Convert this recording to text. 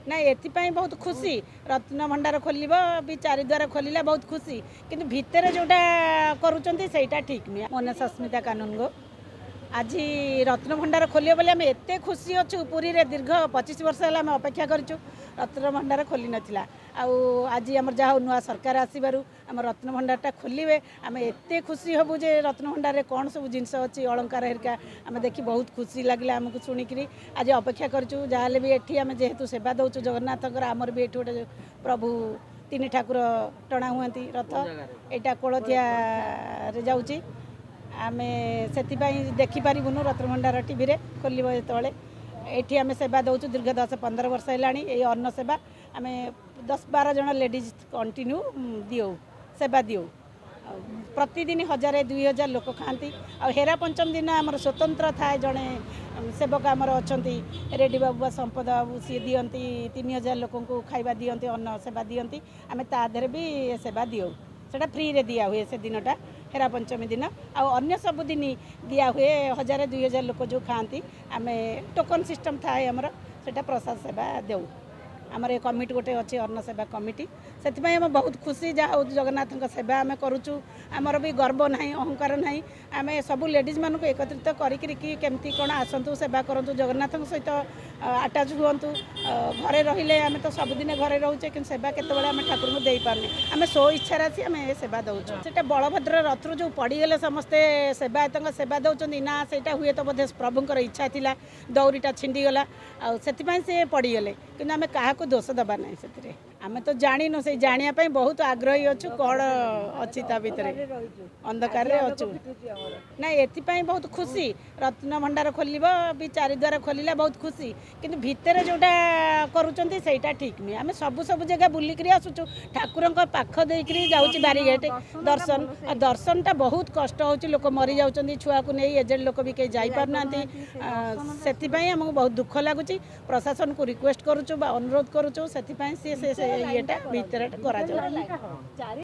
ନାଇଁ, ଏଥିପାଇଁ ବହୁତ ଖୁସି। ରତ୍ନ ଭଣ୍ଡାର ଖୋଲିବ ବି, ଚାରିଦ୍ୱାର ଖୋଲିଲା, ବହୁତ ଖୁସି। କିନ୍ତୁ ଭିତରେ ଯେଉଁଟା କରୁଛନ୍ତି ସେଇଟା ଠିକ୍ ନୁହେଁ। ମୋ ନାଁ ସସ୍ମିତା କାନୁନଗୋ। ଆଜି ରତ୍ନଭଣ୍ଡାର ଖୋଲିବ ବୋଲି ଆମେ ଏତେ ଖୁସି ଅଛୁ। ପୁରୀରେ ଦୀର୍ଘ 25 ବର୍ଷ ହେଲା ଆମେ ଅପେକ୍ଷା କରିଛୁ, ରତ୍ନଭଣ୍ଡାର ଖୋଲି ନଥିଲା। ଆଉ ଆଜି ଆମର ଯାହା ହଉ ନୂଆ ସରକାର ଆସିବାରୁ ଆମ ରତ୍ନଭଣ୍ଡାରଟା ଖୋଲିବେ, ଆମେ ଏତେ ଖୁସି ହେବୁ ଯେ ରତ୍ନଭଣ୍ଡାରରେ କ'ଣ ସବୁ ଜିନିଷ ଅଛି, ଅଳଙ୍କାର ହେରିକା ଆମେ ଦେଖି ବହୁତ ଖୁସି ଲାଗିଲା ଆମକୁ ଶୁଣିକିରି। ଆଜି ଅପେକ୍ଷା କରିଛୁ। ଯାହାହେଲେ ବି ଏଠି ଆମେ ଯେହେତୁ ସେବା ଦେଉଛୁ ଜଗନ୍ନାଥଙ୍କର, ଆମର ବି ଏଠି ଗୋଟେ ପ୍ରଭୁ ତିନି ଠାକୁର ଟଣା ହୁଅନ୍ତି ରଥ, ଏଇଟା କୋଳଥିଆରେ ଯାଉଛି। ଆମେ ସେଥିପାଇଁ ଦେଖିପାରିବୁନୁ ରତ୍ନଭଣ୍ଡାର ଟିଭିରେ ଖୋଲିବ ଯେତେବେଳେ। ଏଠି ଆମେ ସେବା ଦେଉଛୁ ଦୀର୍ଘ 10 15 ବର୍ଷ ହେଲାଣି। ଏଇ ଅନ୍ନ ସେବା ଆମେ 10 12 ଜଣ ଲେଡ଼ିଜ୍ କଣ୍ଟିନ୍ୟୁ ଦିଅଉ, ସେବା ଦିଅଉ। ଆଉ ପ୍ରତିଦିନ 1000 2000 ଲୋକ ଖାଆନ୍ତି। ଆଉ ହେରା ପଞ୍ଚମ ଦିନ ଆମର ସ୍ୱତନ୍ତ୍ର ଥାଏ, ଜଣେ ସେବକ ଆମର ଅଛନ୍ତି ରେଡ଼ି ବାବୁ ବା ସମ୍ପଦ ବାବୁ, ସିଏ ଦିଅନ୍ତି 3000 ଲୋକଙ୍କୁ ଖାଇବା ଦିଅନ୍ତି, ଅନ୍ନ ସେବା ଦିଅନ୍ତି। ଆମେ ତା ଦେହରେ ବି ସେବା ଦିଅଉ। ସେଇଟା ଫ୍ରିରେ ଦିଆ ହୁଏ ସେ ଦିନଟା, ହେରା ପଞ୍ଚମୀ ଦିନ। ଆଉ ଅନ୍ୟ ସବୁଦିନ ଦିଆ ହୁଏ, 1000 2000 ଲୋକ ଯେଉଁ ଖାଆନ୍ତି, ଆମେ ଟୋକନ୍ ସିଷ୍ଟମ୍ ଥାଏ ଆମର, ସେଇଟା ପ୍ରସାଦ ସେବା ଦେଉ। ଆମର ଏ କମିଟି ଗୋଟେ ଅଛି, ଅନ୍ନ ସେବା କମିଟି। ସେଥିପାଇଁ ଆମେ ବହୁତ ଖୁସି। ଯାହା ହଉ ଜଗନ୍ନାଥଙ୍କ ସେବା ଆମେ କରୁଛୁ, ଆମର ବି ଗର୍ବ ନାହିଁ, ଅହଙ୍କାର ନାହିଁ। ଆମେ ସବୁ ଲେଡ଼ିଜ୍ମାନଙ୍କୁ ଏକତ୍ରିତ କରିକିରି କି କେମିତି କ'ଣ ଆସନ୍ତୁ, ସେବା କରନ୍ତୁ, ଜଗନ୍ନାଥଙ୍କ ସହିତ ଆଟାଚ୍ ହୁଅନ୍ତୁ। ଘରେ ରହିଲେ ଆମେ ତ ସବୁଦିନ ଘରେ ରହୁଛେ, କିନ୍ତୁ ସେବା କେତେବେଳେ ଆମେ ଠାକୁରଙ୍କୁ ଦେଇପାରୁନି। ଆମେ ସ୍ୱ ଇଚ୍ଛାରେ ଆସି ଆମେ ସେବା ଦେଉଛୁ। ସେଇଟା ବଳଭଦ୍ର ରଥରୁ ଯେଉଁ ପଡ଼ିଗଲେ ସମସ୍ତେ ସେବାୟତଙ୍କ ସେବା ଦେଉଛନ୍ତି ନା, ସେଇଟା ହୁଏତ ବୋଧେ ପ୍ରଭୁଙ୍କର ଇଚ୍ଛା ଥିଲା, ଦଉଡ଼ିଟା ଛିଣ୍ଡିଗଲା ଆଉ ସେଥିପାଇଁ ସେ ପଡ଼ିଗଲେ। କିନ୍ତୁ ଆମେ କାହାକୁ ଦୋଷ ଦେବା ନାହିଁ ସେଥିରେ। ଆମେ ତ ଜାଣିନୁ, ସେଇ ଜାଣିବା ପାଇଁ ବହୁତ ଆଗ୍ରହୀ ଅଛୁ କ'ଣ ଅଛି ତା ଭିତରେ, ଅନ୍ଧକାରରେ ଅଛୁ। ନାଇଁ, ଏଥିପାଇଁ ବହୁତ ଖୁସି। ରତ୍ନଭଣ୍ଡାର ଖୋଲିବ ବି, ଚାରିଦ୍ୱାର ଖୋଲିଲା, ବହୁତ ଖୁସି। କିନ୍ତୁ ଭିତରେ ଯେଉଁଟା କରୁଛନ୍ତି ସେଇଟା ଠିକ୍ ନୁହେଁ। ଆମେ ସବୁ ସବୁ ଜାଗା ବୁଲିକିରି ଆସୁଛୁ, ଠାକୁରଙ୍କ ପାଖ ଦେଇକିରି ଯାଉଛି ବ୍ୟାରିଗେଟ୍ ଦର୍ଶନ। ଆଉ ଦର୍ଶନଟା ବହୁତ କଷ୍ଟ ହେଉଛି, ଲୋକ ମରିଯାଉଛନ୍ତି ଛୁଆକୁ ନେଇ, ଏଜେଡ଼ ଲୋକ ବି କେହି ଯାଇପାରୁନାହାନ୍ତି। ସେଥିପାଇଁ ଆମକୁ ବହୁତ ଦୁଃଖ ଲାଗୁଛି। ପ୍ରଶାସନକୁ ରିକ୍ୱେଷ୍ଟ କରୁଛୁ ବା ଅନୁରୋଧ କରୁଛୁ, ସେଥିପାଇଁ ସିଏ ସେ ଇଏଟା ଭିତରେ କରାଯାଉ।